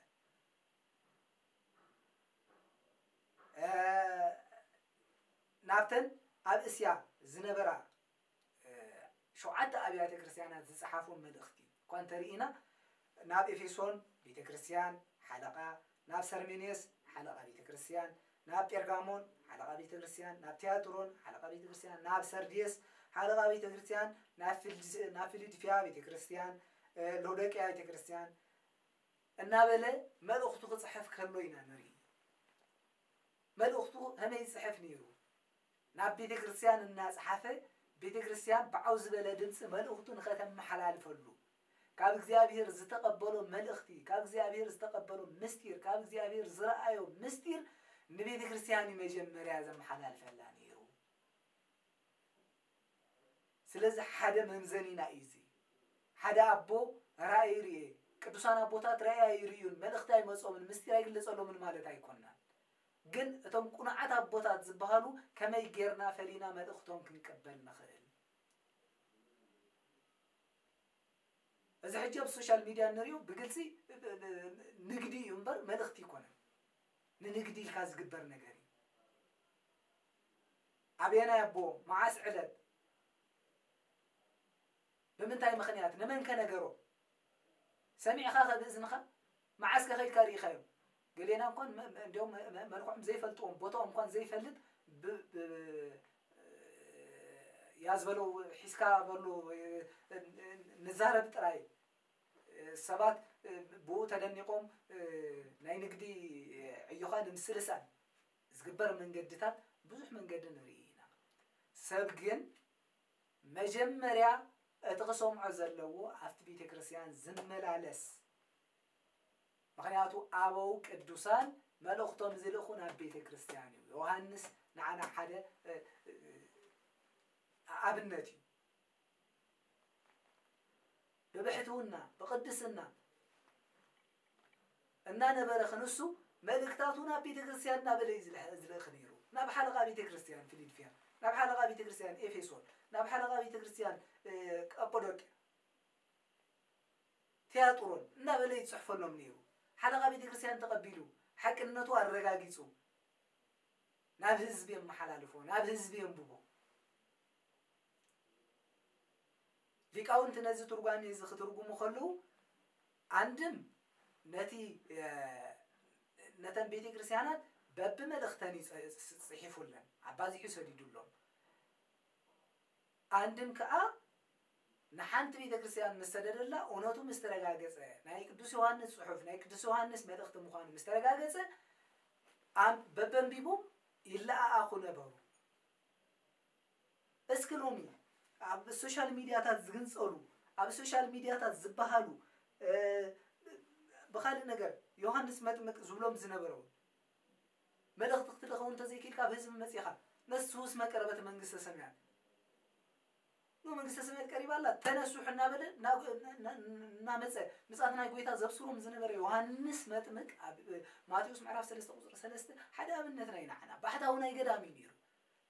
ናብተን ኣብ እስያ ዝነበራ ሸውዓተ ኣብያተ ክርስቲያናት ዝጸሓፎም መልእኽቲ እኳ እንተርኢና ናብ ኤፌሶን ቤተ ክርስቲያን ሓለቓ፣ ናብ ሰርሜኔስ ሓለቓ ቤተ ክርስቲያን፣ ናብ ጴርጋሞን ሓለቓ ቤተ ክርስቲያን፣ ናብ ቲያጥሮን ሓለቓ ቤተ ክርስቲያን፣ ናብ ሰርዴስ ሓለቓ ቤተ ክርስቲያን፣ ናብ ፊልድ-፣ ናብ ፊልድፊያ ቤተ ክርስቲያን፣ እ፣ ሎዶቅያ ቤተ ክርስቲያን እናበለ መልእኽቱ ክጽሕፍ ከሎ ኢና ንርኢ። መልእኽቱ ከመይ ይጽሕፍ ነይሩ? ናብ ቤተ ክርስቲያን እናጸሓፈ፣ ቤተ ክርስቲያን ብዓው ዝበለ ድምፂ መልእኽቱ ንኸተመሓላልፈሉ፣ ካብ እግዚኣብሔር ዝተቐበሎ መልእኽቲ፣ ካብ እግዚኣብሔር ዝተቐበሎ ምስጢር፣ ካብ እግዚኣብሔር ዝረኣዮ ምስጢር ንቤተ ክርስቲያን እዩ መጀመርያ ዘመሓላልፈላ ነይሩ። ስለዚ ሓደ መምዘኒና እዩ እዚ። ሓደ ኣቦ ራእይ ርኤ፣ ቅዱሳን ኣቦታት ራእይ ኣይርእዩን፣ መልእኽቲ ኣይመጾምን፣ ምስጢር ኣይግለጸሎምን ማለት ኣይኮናን። ግን እቶም ቁኑዓት ኣቦታት ዝበሃሉ ከመይ ጌርና ፈሊና መልእኽቶም ክንቅበል ንኽእል? እዚ ሕጂ ኣብ ሶሻል ሚድያ እንሪኦ ብግልፂ ንግዲ እዩ እምበር መልእኽቲ ኣይኮነን። ንንግዲ ኢልካ ዝግበር ነገር እዩ። ኣበየናይ ኣቦ፣ መዓስ ዕለት፣ ብምንታይ ምኽንያት፣ ንመን ከነገሮ? ሰሚዕኻ ከ ብእዝንኻ? መዓስ ከ ከይድካ ርኢኻዮም? ገሌና እንኳን መ-፣ መ-፣ እንዲያውም መ-፣ መ-፣ መልክዖም ዘይፈልጥዎም፣ ቦታኦም እንኳን ዘይፈልጥ ብ-፣ ብ-፣ ያዝ በለው ሒዝካ በሉ፣ እ፣ እ፣ ንዛረብ ጥራይ። ሰባት፣ እ፣ ብኡ ተደኒቖም፣ እ፣ ናይ ንግዲ ዕዮኻ ንምስልሳል ዝግበር መንገድታት ብዙሕ መንገዲ ንርኢ ኢና። ሰብ ግን መጀመርያ እቲ ክሰምዖ ዘለዎ ኣብቲ ቤተ ክርስቲያን ዝመላለስ። ምኽንያቱ ኣበው ቅዱሳን መልእኽቶም ዝልእኹ ናብ ቤተ ክርስቲያን እዩ። ዮሃንስ ንዓና ሓደ፣ እ፣ እ፣ ኣብነት እዩ። ብብሕትውና፣ ብቕድስና እናነበረ ክንሱ መልእክታቱ ናብ ቤተ ክርስቲያን እናበለ እዩ ዝልሕ-፣ ዝልእኽ ነይሩ። ናብ ሓለቓ ቤተ ክርስቲያን ፊልድፊያ፣ ናብ ሓለቓ ቤተ ክርስቲያን ኤፌሶን፣ ናብ ሓለቓ ቤተ ክርስቲያን፣ እ፣ ቀጳዶቅያ፣ ቲያጥሮን እናበለ ይጽሕፈሎም ነይሩ። ሓለቓ ቤተ ክርስቲያን ተቐቢሉ፣ ሓቅነቱ ኣረጋጊጹ፣ ናብ ህዝቢ የመሓላልፎ፣ ናብ ህዝቢ የንብቦ። ሊቃውንቲ ነዚ ትርጓሜ እዚ ክትርጉሙ ከለዉ፣ ኣንድም ነቲ፣ እ፣ ነተን ቤተ ክርስቲያናት በብመልእኽተን እዩ ጽ-፣ ጽ-፣ ጽሒፉለን፣ ኣባዚሑ ሰዲዱሎም። ኣንድም ከኣ ንሓንቲ ቤተ ክርስቲያን ምስ ሰደደላ፣ እውነቱ ምስ ተረጋገጸ፣ ናይ ቅዱስ ዮሃንስ ጽሑፍ፣ ናይ ቅዱስ ዮሃንስ መልእኽቲ ምዃኑ ምስ ተረጋገጸ፣ ኣም-፣ በበንቢቦም ይለኣኣኹ ነበሩ። እስኪ ሎሚ ኣብ ሶሻል ሚድያታት ዝግንጸሉ፣ ኣብ ሶሻል ሚድያታት ዝበሃሉ፣ እ፣ ብኻልእ ነገር ዮሃንስ መጥምቅ ዝብሎም ዝነበረ እውን መልእኽቲ ክትልእኽ እውን እንተዘይክኢልካ ኣብ ህዝቢ መጺኻ፣ ነሱ እስመ ቀረበት መንግስተ ሰማያት፣ ኖ መንግስተ ሰማያት ቀሪባ ኣላ፣ ተነስሑ እናበለ ናብ-፣ ና-፣ ና-፣ እናመጸ ምጽኣት ናይ ጎይታ ዘብስሮም ዝነበረ ዮሃንስ መጥምቅ ኣብ ማቴዎስ ምዕራፍ ሰለስተ ቁጽሪ ሰለስተ ሓደ ኣብነትና እዩ ንዓና። ባሕታዊ ናይ ገዳም እዩ ነይሩ።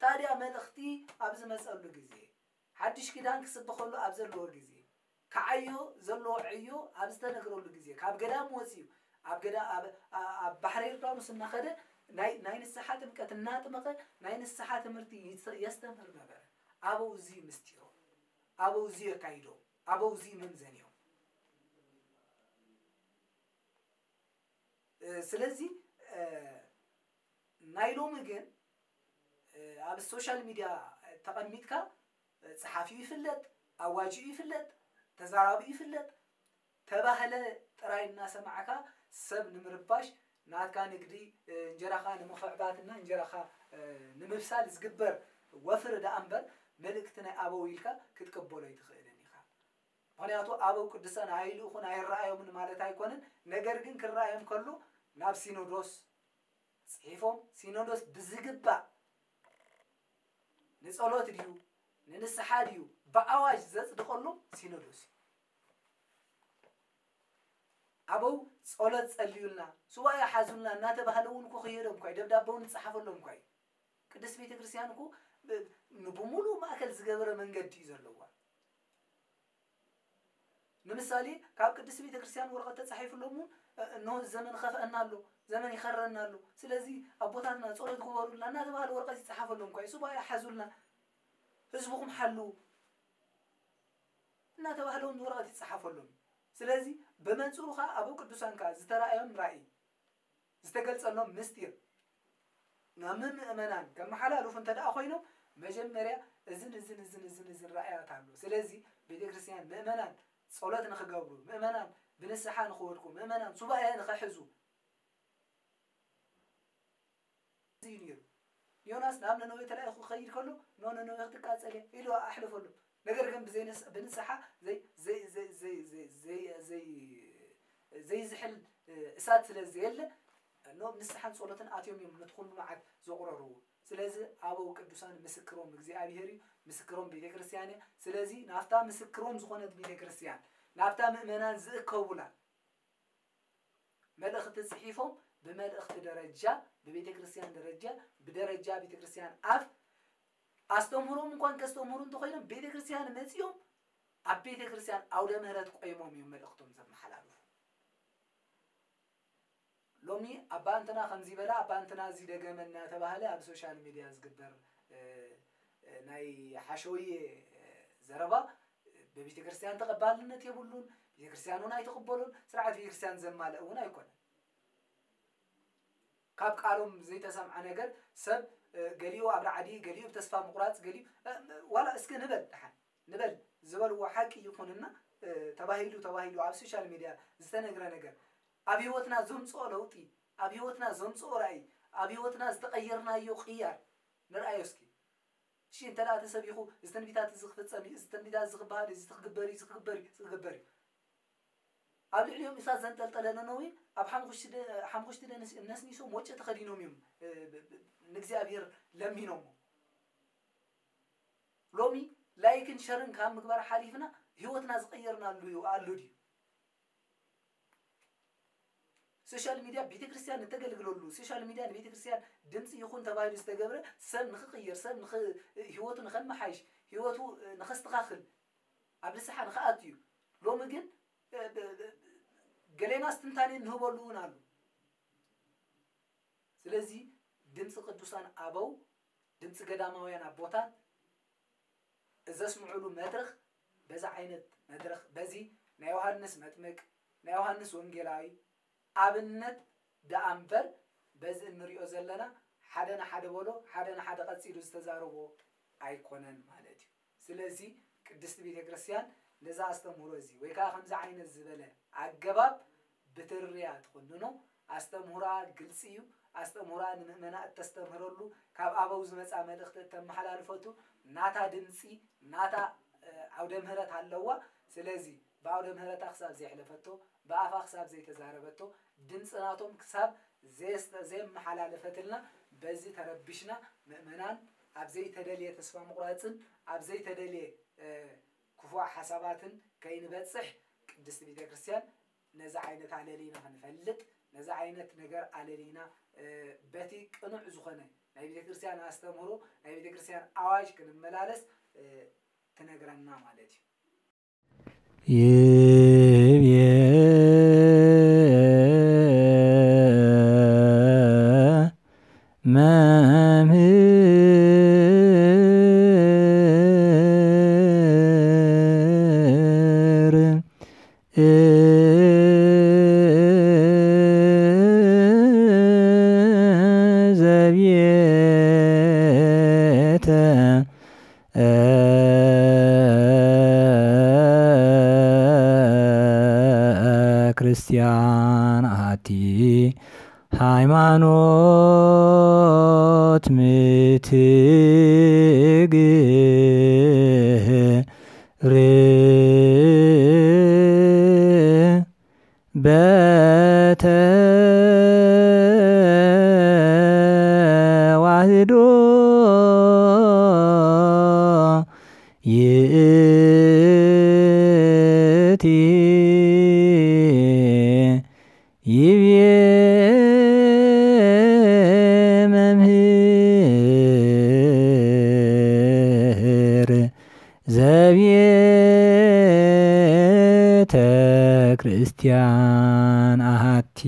ታዲያ መልእኽቲ ኣብ ዝመጸሉ ግዜ፣ ሓድሽ ኪዳን ክስበኸሉ ኣብ ዘለዎ ግዜ፣ ክዓዮ ዘለዎ ዕዮ ኣብ ዝተነግረሉ ግዜ፣ ካብ ገዳም ወጺኡ ኣብ ገዳ-፣ ኣብ፣ ኣ-፣ ኣብ ባሕሪ ዮርዳኖስ እናኸደ ናይ፣ ናይ ንስሓ ጥምቀት እናጥመቐ ናይ ንስሓ ትምህርቲ ይስ-፣ የስተምህር ነበረ። ኣበው እዚ ምስጢሮም፣ ኣበው እዚ የካይዶም፣ ኣበው እዚ መምዘኒኦም። እ፣ ስለዚ፣ እ፣ ናይ ሎሚ ግን፣ እ፣ ኣብ ሶሻል ሚድያ ተቐሚጥካ፣ እ፣ ጸሓፊኡ ይፍለጥ፣ ኣዋጅኡ ይፍለጥ፣ ተዛራቢኡ ይፍለጥ፣ ተባህለ ጥራይ እናሰማዕካ ሰብ ንምርባሽ፣ ናትካ ንግዲ፣ እ፣ እንጀራኻ ንምኽዕባትና እንጀራኻ፣ እ፣ ንምብሳል ዝግበር ወፍሪ ደኣ እምበር፣ መልእክቲ ናይ ኣበው ኢልካ ክትቅበሎ ኣይትኽእልን ኢኻ። ምኽንያቱ ኣበው ቅዱሳን ኣይልእኹን ኣይረኣዮምን ማለት ኣይኮነን። ነገር ግን ክረኣዮም ከሎ ናብ ሲኖዶስ ጽሒፎም፣ ሲኖዶስ ብዝግባእ ንጸሎት ድዩ ንንስሓ ድዩ ብኣዋጅ ዘጽድቐሎም ሲኖዶስ እዩ። ኣበው ጸሎት ጸልዩልና፣ ሱባኤ ሓዙልና እናተባህለ እውን እኮ ክይዶም እኳ እዩ፣ ደብዳበ እውን ዝጸሓፈሎም እኳ እዩ። ቅድስት ቤተ ክርስቲያን እኮ ብ-፣ ንብሙሉ ማእከል ዝገበረ መንገዲ እዩ ዘለዋ። ንምሳሌ፣ ካብ ቅድስት ቤተ ክርስቲያን ወረቐት ተጻሒፉሎም እውን፣ እ፣ እነሆ ዘመን ኸፍአና ኣሎ፣ ዘመን ይኸረና ኣሎ፣ ስለዚ ኣቦታትና ጸሎት ግበሩልና እናተባህለ ወረቐት ይጸሓፈሎም እኳ እዩ። ሱባኤ ሓዙልና፣ ህዝብኹም ሓልዉ እናተባህለ እውን ወረቐት ይጸሓፈሎም። ስለዚ፣ ብመንጽሩ ኸኣ ኣበው ቅዱሳን ከኣ ዝተራእዮም ራእይ፣ ዝተገልጸሎም ምስጢር፣ ናብ ምእመናን ከመሓላልፉ እንተ ደኣ ኮይኖም መጀመርያ እዝን እዝን እዝን እዝን እዝን ራእያት ኣሎ። ስለዚ ቤተክርስትያን ምእመናን ጸሎት ንኽገብሩ፣ ምእመናን ብንስሓ ንኽወድቁ፣ ምእመናን ሱባኤ ንኽሕዙ እዩ ነይሩ። ዮናስ ናብ ነነዌ ተላኢኹ ክኸይድ ከሎ፣ "ኖ፣ ነነዌ ክትቃጸል እያ" ኢሉ ኣሕለፈሎም። ነገር ግን ብዘይ ንስ-፣ ብንስሓ ዘይ-፣ ዘይ-፣ ዘይ-፣ ዘይ-፣ ዘይ-፣ ዘይ-፣ ዘይ-፣ ዘይዝሕል፣ እ፣ እሳት ስለ ዘየለ፣ ኖ፣ ንስሓን ጸሎትን ኣትዮም እዮም ነቲ ኩሉ መዓት ዘቑረርዎ። ስለዚ ኣበው ቅዱሳን ምስክሮም እግዚኣብሔር እዩ፣ ምስክሮም ቤተ ክርስቲያን እያ። ስለዚ ናብታ ምስክሮም ዝኾነት ቤተ ክርስቲያን፣ ናብታ ምእመናን ዝእከቡላ መልእኽቲ ጽሒፎም፣ ብመልእኽቲ ደረጃ፣ ብቤተ ክርስቲያን ደረጃ፣ ብደረጃ ቤተ ክርስቲያን ኣፍ ኣስተምህሮም እንኳን ከስተምህሩ እንተኾይኖም፣ ቤተ ክርስቲያን መጺኦም ኣብ ቤተ ክርስቲያን ኣውደ ምህረት ቆይሞም እዮም መልእኽቶም ዘመሓላልፉ። ሎሚ ኣባ እንትና ከምዚ በላ፣ ኣባ እንትና እዚ ደገመ እናተባህለ ኣብ ሶሻል ሚድያ ዝግበር፣ እ፣ እ፣ ናይ ሓሸውየ፣ እ፣ ዘረባ፣ እ፣ በቤተ ክርስቲያን ተቐባልነት የብሉን። ቤተ ክርስቲያን እውን ኣይትቕበሉን። ስርዓት ቤተ ክርስቲያን ዘማልእ እውን ኣይኮነን። ካብ ቃሎም ዘይተሰምዐ ነገር ሰብ፣ እ፣ ገሊኡ ኣብ ራዕዲ፣ ገሊኡ ብተስፋ ምቑራጽ፣ ገሊኡ፣ እ፣ ዋላ እስኪ ንበል ደሓን፣ ንበል ዝበልዎ ሓቂ ይኹንና፣ እ፣ ተባሂሉ፣ ተባሂሉ ኣብ ሶሻል ሚድያ ዝተነግረ ነገር ኣብ ህይወትና ዘምጽኦ ለውጢ፣ ኣብ ህይወትና ዘምጽኦ ራእይ፣ ኣብ ህይወትና ዝተቐየርናዮ ቅያር ንርኣዮ እስኪ። እሺ፣ እንተ ደኣ ተሰቢኹ፣ እዚ ትንቢታት እዚ ክፍጸም እዩ፣ እዚ ትንቢታት እዚ ክበሃል እዩ፣ እዚ ክግበር እዩ፣ እዚ ክግበር እዩ፣ እዚ ክግበር እዩ። ኣብ ልዕሊኦም እሳት ዘንጠልጠለ ነነዌ ኣብ ሓምኹሽቲ ደ-፣ ሓምኹሽቲ ደንስ-፣ ነስኒሶም ወጨ ተኸዲኖም እዮም፣ እ፣ ብ-፣ ብ-፣ ንእግዚኣብሔር ለሚኖሞ። ሎሚ ላይክን ሸርን ካብ ምግባር ሓሊፍና ህይወትና ዝቐየርናሉ እዩ፣ ኣሎ ድዩ? ሶሻል ሚድያ ቤተክርስትያን እተገልግለሉ፣ ሶሻል ሚድያ ንቤተክርስትያን ድምፂ ይኹን ተባሂሉ ዝተገብረ ሰብ ንኽቕየር፣ ሰብ ንኽ-፣ ህይወቱ ንኸመሓይሽ፣ ህይወቱ ንኸስተኻኽል፣ ኣብ ንስሓ ንኽኣቱ እዩ። ሎሚ ግን፣ እ፣ ብ-፣ ብ-፣ ገሌና ትንታኔ ንህበሉ እውን ኣሎ። ስለዚ ድምፂ ቅዱሳን ኣበው፣ ድምፂ ገዳማውያን ኣቦታት ዘስምዑሉ መድረኽ፣ በዚ ዓይነት መድረኽ፣ በዚ ናይ ዮሃንስ መጥምቅ፣ ናይ ዮሃንስ ወንጌላዊ ኣብነት ደኣ እምበር፣ በዚ እንሪኦ ዘለና ሓደ ንሓደ በሎ፣ ሓደ ንሓደ ቀጺሉ ዝተዛረቦ ኣይኮነን ማለት እዩ። ስለዚ ቅድስቲ ቤተ ክርስቲያን ነዚ ኣስተምህሮ እዚ ወይ ከኣ ከምዚ ዓይነት ዝበለ ኣገባብ ብትርያ ትኹንኖ። ኣስተምህሮኣ ግልጺ እዩ። ኣስተምህሮኣ ንምእመና እተስተምህረሉ፣ ካብ ኣበው ዝመጻ መልእኽቲ እተመሓላልፈቱ፣ ናታ ድምጺ፣ ናታ፣ እ፣ ዓውደ ምህረት ኣለዋ። ስለዚ ብዓውደ ምህረታ ክሳብ ዘየሕለፈቶ፣ ብኣፋ ክሳብ ዘይተዛረበቶ፣ ድምጺ ናቶም ክሳብ ዘየስተ-፣ ዘየመሓላለፈትልና፣ በዚ ተረቢሽና ምእመናን ኣብ ዘይተደልየ ተስፋ ምቑራጽን ኣብ ዘይተደልየ፣ እ፣ ክፉእ ሓሳባትን ከይንበጽሕ ቅድስቲ ቤተ ክርስቲያን ነዚ ዓይነት ኣለሊና ክንፈልጥ፣ ነዚ ዓይነት ነገር ኣለሊና፣ እ፣ በቲ ቅኑዕ ዝኾነ ናይ ቤተ ክርስቲያን ኣስተምህሮ፣ ናይ ቤተ ክርስቲያን ኣዋጅ ክንመላለስ፣ እ፣ ትነግረና ማለት እዩ። ይብየ መምህር ዘብየተ ክርስቲያን ኣቲ ሃይማኖት ምትግር በተዋህዶ ይእቲ ይብየ መምህር ዘብየተ ክርስቲያን ኣሃቲ።